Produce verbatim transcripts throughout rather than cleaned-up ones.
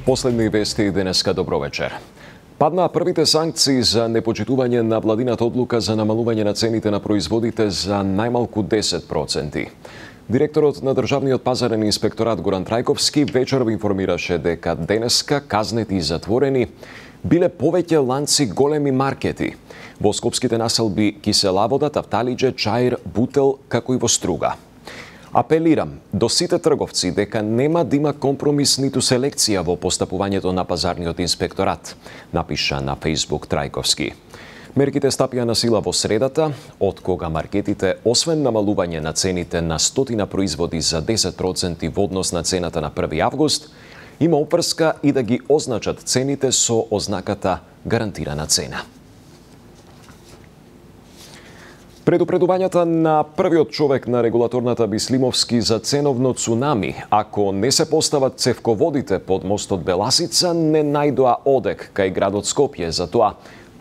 Последни вести денеска, добро вечер. Паднаа првите санкции за непочитување на владината одлука за намалување на цените на производите за најмалку десет проценти. Директорот на Државниот пазарен инспекторат Горан Трајковски вечерва информираше дека денеска казнети и затворени биле повеќе ланци големи маркети во скопските населби Киселавода, Тафталиџе, Чаир, Бутел, како и во Струга. Апелирам до сите трговци дека нема да има компромис ниту селекција во постапувањето на пазарниот инспекторат, напиша на Facebook Трајковски. Мерките стапија на сила во средата, од кога маркетите, освен намалување на цените на стотина производи за десет проценти во однос на цената на први август, има опрска и да ги означат цените со ознаката гарантирана цена. Предупредувањата на првиот човек на регулаторната Бислимовски за ценовно цунами, ако не се постават цевководите под мостот Беласица, не најдоа одек кај градот Скопје за тоа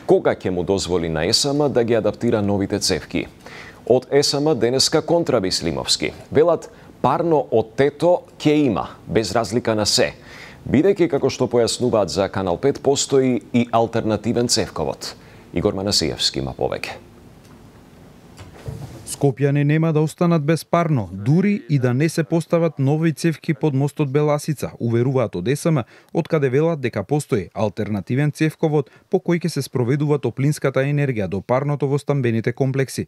кога ќе му дозволи на ЕСМ да ги адаптира новите цевки. Од ЕСМ денеска контра Бислимовски. Велат, парно од тето ќе има, без разлика на се. Бидејќи, како што појаснуваат за Канал пет, постои и алтернативен цевковод. Игор Манасиевски има повеќе. Скопјани нема да останат без парно, дури и да не се постават нови цевки под мостот Беласица, уверуваат од ЕСМ, откаде велат дека постои алтернативен цевковод по кој ќе се спроведува топлинската енергија до парното во стамбените комплекси.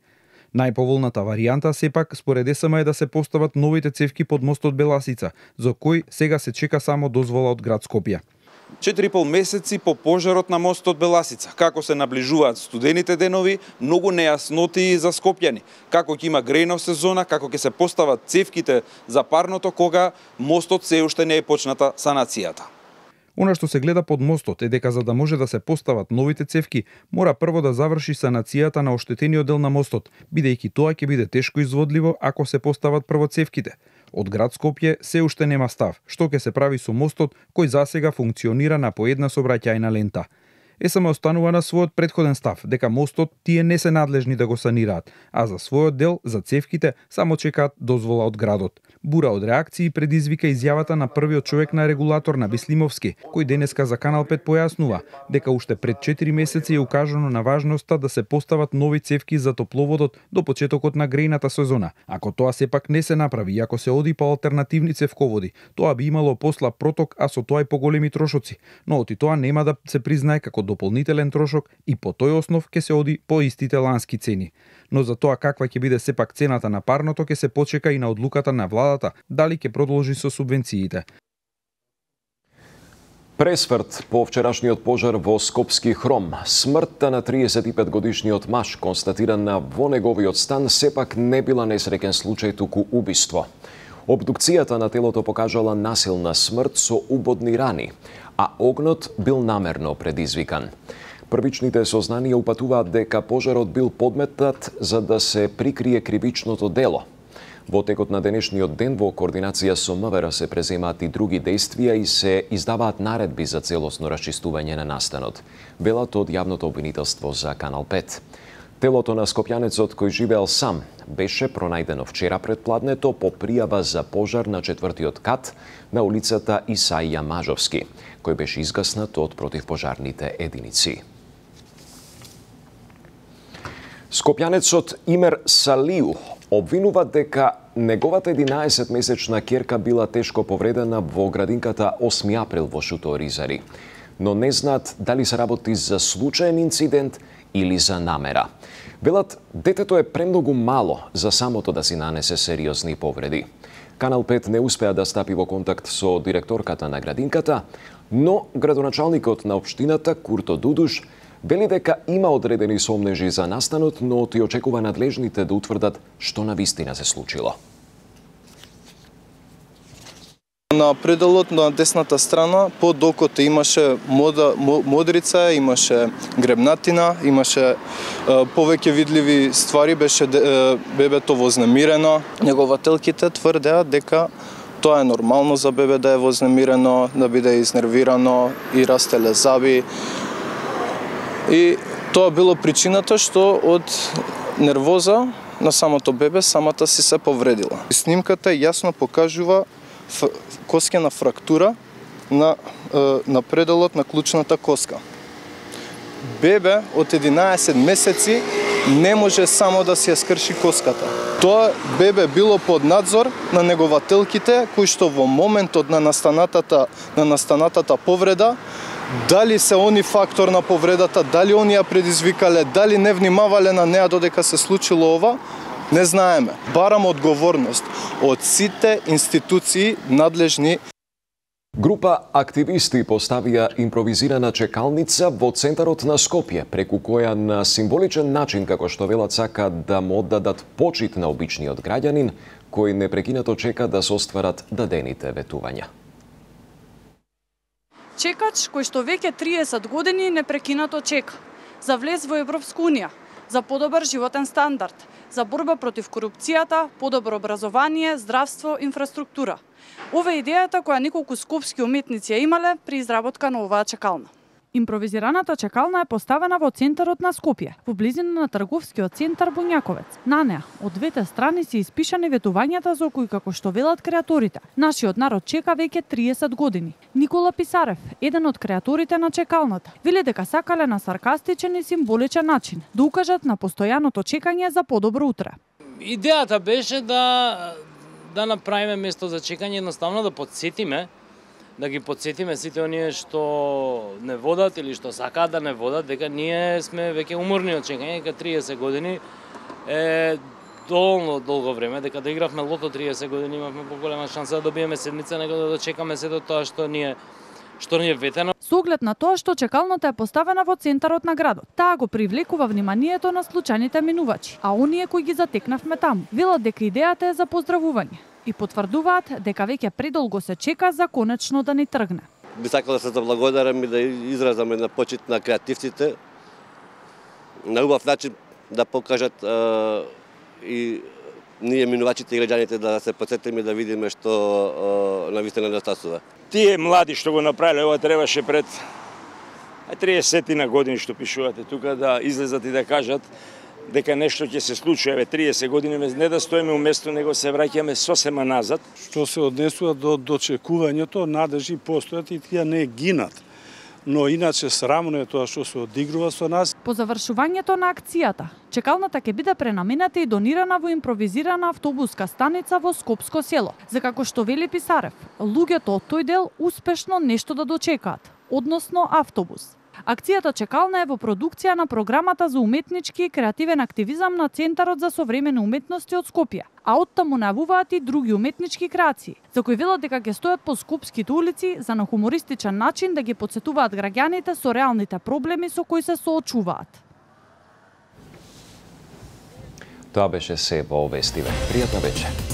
Најповолната варијанта сепак според ЕСМ е да се постават новите цевки под мостот Беласица, за кој сега се чека само дозвола од град Скопје. четири и пол месеци по пожарот на мостот Беласица. Како се наближуваат студените денови, многу нејасноти за скопјани. Како ќе има грејнов сезона, како ќе се постават цевките за парното кога мостот се уште не е почната санацијата. Она што се гледа под мостот е дека за да може да се постават новите цевки, мора прво да заврши санацијата на оштетениот дел на мостот, бидејќи тоа ќе биде тешко изводливо ако се постават прво цевките. Од град Скопје се уште нема став, што ќе се прави со мостот кој засега функционира на по една сообраќајна лента. ЕСМ останува на својот претходен став, дека мостот тие не се надлежни да го санираат, а за својот дел, за цевките, само чекаат дозвола од градот. Бура од реакции предизвика изјавата на првиот човек на регулатор на Бислимовски, кој денеска за Канал пет појаснува дека уште пред четири месеци е укажано на важноста да се постават нови цевки за топловодот до почетокот на грејната сезона. Ако тоа сепак не се направи и ако се оди по алтернативни цевководи, тоа би имало посла проток, а со тоа и поголеми трошоци, но оти тоа нема да се признае како дополнителен трошок и по тој основ ќе се оди по истите лански цени. Но за тоа каква ќе биде сепак цената на парното ќе се почека и на одлуката на владата дали ќе продолжи со субвенциите. Пресврт по вчерашниот пожар во Скопски хром. Смртта на триесет и пет годишниот маж, констатирана во неговиот стан, сепак не била несреќен случај, туку убиство. Обдукцијата на телото покажала насилна смрт со убодни рани, а огнот бил намерно предизвикан. Првичните сознанија упатуваат дека пожарот бил подметнат за да се прикрие кривичното дело. Во текот на денешниот ден во координација со МВР се преземаат и други действија и се издаваат наредби за целосно расчистување на настанот, велат од јавното обвинителство за Канал пет. Телото на скопјанецот кој живеел сам беше пронајдено вчера пред пладнето по пријава за пожар на четвртиот кат на улицата Исаија Мажовски, кој беше изгаснат од противпожарните единици. Скопјанецот Имер Салиу обвинува дека неговата единаесетмесечна ќерка била тешко повредена во градинката осми април во Шуто Оризари, но не знаат дали се работи за случаен инцидент или за намера. Велат, детето е премногу мало за самото да си нанесе сериозни повреди. Канал пет не успеа да стапи во контакт со директорката на градинката, но градоначалникот на општината Курто Дудуш вели дека има одредени сомнежи за настанот, но ти очекува надлежните да утврдат што навистина се случило. На пределот на десната страна, под окото имаше мода, модрица, имаше гребнатина, имаше е, повеќе видливи ствари, беше е, бебето вознемирено. Негователките тврдеа дека тоа е нормално за бебе да е вознемирено, да биде изнервирано и растеле заби. И тоа било причината што од нервоза на самото бебе самата си се повредила. Снимката јасно покажува коскена фрактура на, на пределот на клучната коска. Бебе од единаесет месеци не може само да си ја скрши коската. Тоа бебе било под надзор на негователките, кои што во моментот на настанатата, на настанатата повреда, дали се они фактор на повредата, дали они ја предизвикале, дали не внимавале на неа додека се случило ова, не знаеме. Барам одговорност од сите институции надлежни. Група активисти поставија импровизирана чекалница во центарот на Скопје, преку која на символичен начин, како што велат, сакаат да му оддадат почит на обичниот граѓанин, кој непрекинато чека да се остварат дадените ветувања. Чекач кој што веќе триесет години непрекинато чека за влез во Европска унија, за подобар животен стандард, за борба против корупцијата, подобро образование, здравство, инфраструктура. Ова е идејата која неколку скопски уметници ја имале при изработка на оваа чекална. Импровизираната чекална е поставена во центарот на Скопје, во близина на трговскиот центар Бунјаковец. На неа, од двете страни се испишани ветувањата за кои, како што велат креаторите, нашиот народ чека веќе триесет години. Никола Писарев, еден од креаторите на чекалната, вели дека сакале на саркастичен и символичен начин да укажат на постојаното чекање за подобро утре. Идејата беше да да направиме место за чекање, едноставно да подсетиме, да ги подсетиме сите оние што не водат или што сакаат да не водат, дека ние сме веќе уморни од чекање, дека триесет години е доволно долго време, дека да игравме лото триесет години имавме поголема шанса да добиеме седмица, него да дочекаме сето тоа што ни е што ни е ветено. Со оглед на тоа што чекалната е поставена во центарот на градот, таа го привлекува вниманието на случајните минувачи, а оние кои ги затекнавме таму велат дека идејата е за поздравување и потврдуваат дека веќе предолго се чека за конечно да ни тргне. Би сакал да се заблагодарам и да изразам една почит на креативците, на убав начин да покажат а, и ние минувачите и граѓаните да се подсетиме и да видиме што навистина недостасува. Тие млади што го направиле ова требаше пред триесет на години што пишувате тука да излезат и да кажат дека нешто ќе се случи. Еве триесет години не да стоиме уместо, него се враќаме сосема назад. Што се однесува до дочекувањето, надежи постојат и тие не гинат. Но иначе срамно е тоа што се одигрува со нас. По завршувањето на акцијата, чекалната ќе биде пренамената и донирана во импровизирана автобуска станица во Скопско село. За како што вели Писарев, луѓето од тој дел успешно нешто да дочекаат, односно автобус. Акцијата Чекална е во продукција на програмата за уметнички и креативен активизам на Центарот за современи уметности од Скопје, а оттаму најавуваат и други уметнички креации, за кои велат дека ќе стојат по скопските улици за на хумористичен начин да ги потсетуваат граѓаните со реалните проблеми со кои се соочуваат. Тоа беше се во Вестиве. Пријатна вечер.